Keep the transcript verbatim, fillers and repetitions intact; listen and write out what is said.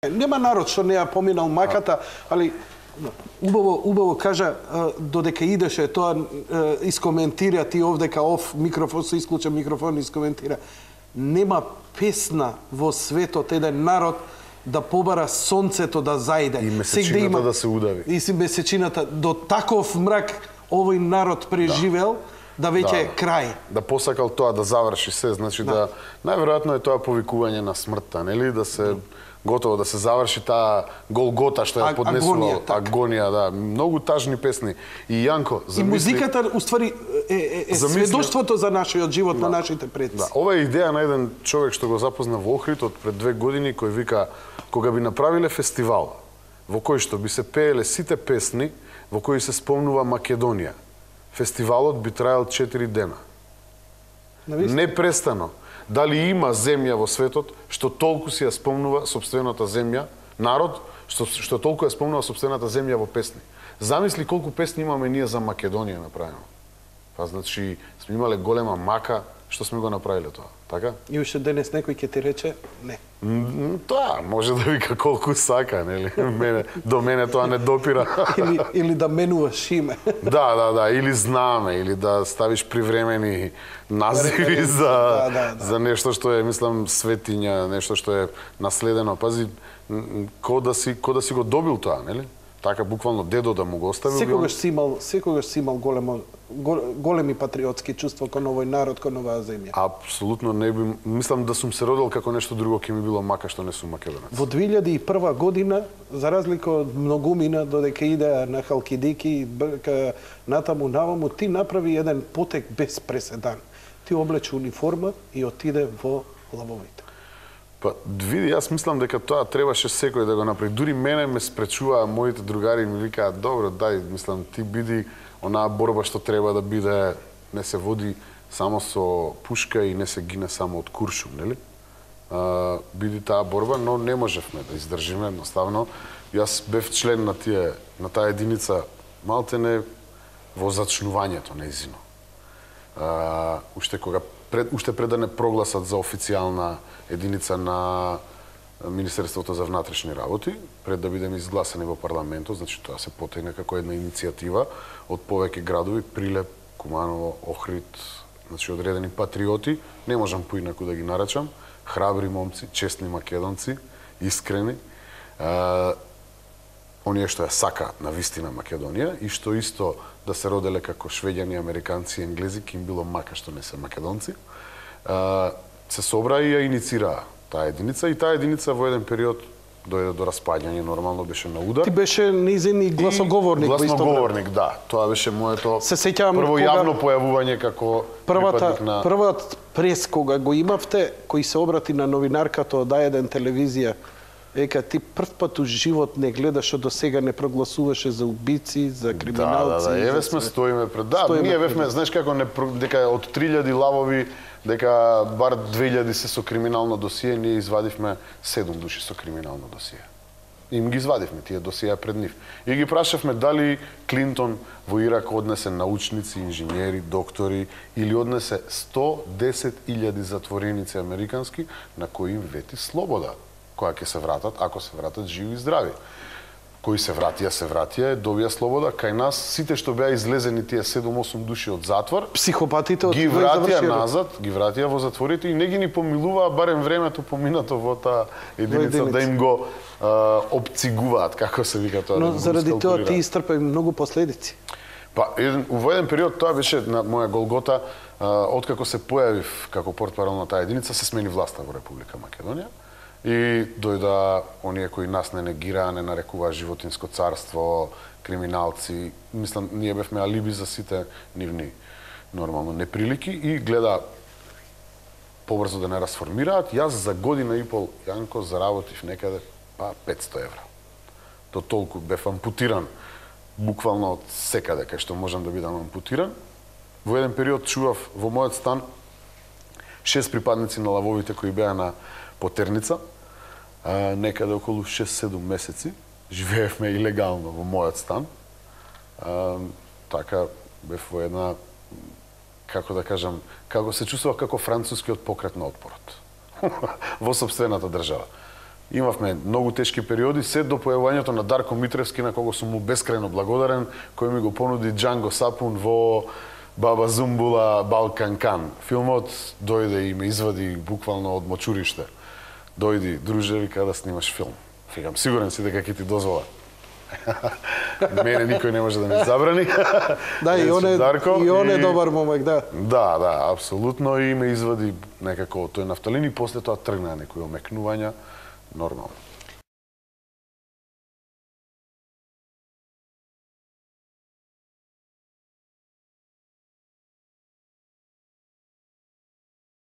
Нема народ што не ја поминал маката, али убаво убаво кажа додека идеше тоа искоментира ти овдека оф микрофон се исклуча микрофон искоментира. Нема песна во светот еден народ да побара сонцето да зајде. И месечината да, има, да се удави. И месечината до таков мрак овој народ преживел да, да веќе е да, крај. Да посакал тоа да заврши се, значи да, да најверојатно е тоа повикување на смртта, нели, да се готово да се заврши таа Голгота што ја поднесувал, агонија, агонија, да, многу тажни песни. И Јанко, замисли... И музиката уствари е, е, е замисли... сведоштвото за нашиот живот, да, на нашите предци. Да, ова е идеја на еден човек што го запозна во Охрид од пред две години, кој вика кога би направиле фестивал во кој што би се пееле сите песни во кои се спомнува Македонија, фестивалот би траел четири дена. Непрестано. Дали има земја во светот што толку си ја спомнува сопствената земја, народ што што толку ја спомнува сопствената земја во песни. Замисли колку песни имаме ние за Македонија направено. Па значи сме имале голема мака што сме го направиле тоа, така? И уште денес некој ќе ти рече не. Тоа може да вика колку сака, нели? Мене до мене тоа не допира. или или да менуваш име. Да, да, да, или знаме, или да ставиш привремени називи за да, да, да. за нешто што е, мислам, светиња, нешто што е наследено. Пази, ко да си ко да си го добил тоа, нели? Така буквално дедо да му го оставил. Секогаш си имал, секогаш си имал големо големи патриотски чувства кон овој народ, кон оваа земја. Апсолутно не би, мислам да сум се родил како нешто друго ќе ми било мака што не сум македонец. Во две илјади и прва година, за разлика од многумина додека иде на Халкидики, натаму наваму, ти направи еден потек без преседан. Ти облече униформа и отиде во лавовите. Па, види, јас мислам дека тоа требаше секој да го направи. Дури мене ме спречуваа моите другари, ми викаат, добро, дај, мислам, ти биди онаа борба што треба да биде, не се води само со пушка и не се гине само од куршум, нели? А, биди таа борба, но не можевме да издржиме, едноставно. Јас бев член на тие, на таа единица, малтене во зачнувањето нејзино. А, уште кога пред, уште пред да не прогласат за официјална единица на Министерството за внатрешни работи, пред да бидеме изгласани во парламентот, значи тоа се потегна како една иницијатива од повеќе градови, Прилеп, Куманово, Охрид, значи одредени патриоти, не можам поинаку да ги наречам, храбри момци, честни македонци, искрени, а, оние што ја сакаат на вистина Македонија и што исто да се роделе како швеѓани, американци и енглези, ки им било мака што не се македонци, а, се собра и ја иницираа таа единица и таа единица во еден период дојде до распаѓање, нормално беше на удар. Ти беше низин и гласоговорник во исто време. Гласоговорник, да. Тоа беше моето се сеќавам прво кога... јавно појавување како првата, припадник на... Првата прес кога го имавте, кој се обрати на новинарката од А еден телевизија, века ти прв пат у живот не гледаш што до сега не прогласуваше за убици, за криминалци. Да, да, да, еве сме стоиме пред. Да, стоиме ние бевме, знаеш како не дека од три илјади лавови дека бар две илјади се со криминално досие, ние извадивме седум души со криминално досие. Им ги извадивме тие досија пред нив. И ги прашавме дали Клинтон во Ирак однесе научници, инженери, доктори или однесе сто десет илјади затвореници американски на кои им вети слобода, која ќе се вратат, ако се вратат живи и здрави. Кои се вратија, се вратија, добија слобода. Кај нас, сите што беа излезени тие седум-осум души од затвор, психопатите ги вратија назад, ги вратија во затворите и не ги ни помилуваа барем времето поминато во таа единица, единица да им го а, обцигуваат, како се вика тоа. Но да заради тоа ти истрпе многу последици. Па, еден, во еден период тоа беше на моја Голгота, а, откако се појавив како портпарол на таа единица, се смени власта во Република Македонија. И дојда оние кои нас не негираа, не нарекуваа животинско царство, криминалци. Мислам, ние бевме алиби за сите нивни нормално неприлики и гледа побрзо да не расформираат. Јас за година и пол, Јанко, заработив некаде па петсто евра. До толку бев ампутиран, буквално од секаде кај што можам да бидам ампутиран. Во еден период чував во мојот стан шест припадници на лавовите кои беа на Потерница, а, некаде околу шест-седум месеци, живеевме илегално во мојот стан. А, така бев во една, како да кажам, како се чувствував како францускиот покрет на отпорот во сопствената држава. Имавме многу тешки периоди, се до појавувањето на Дарко Митревски, на кого сум му бескрајно благодарен, кој ми го понуди Джанго Сапун во Баба Зумбула, Балкан Кан. Филмот дојде и ме извади буквално од мочуриште. Дојди, друже, вика да снимаш филм. Викам, сигурен си дека ќе ти дозвола. Мене никој не може да ми забрани. Да, и он е, Дарко, и он е и... добар момек, да. Да, да, апсолутно, и ме извади некако тој нафталин и после тоа тргна некои омекнувања, нормално.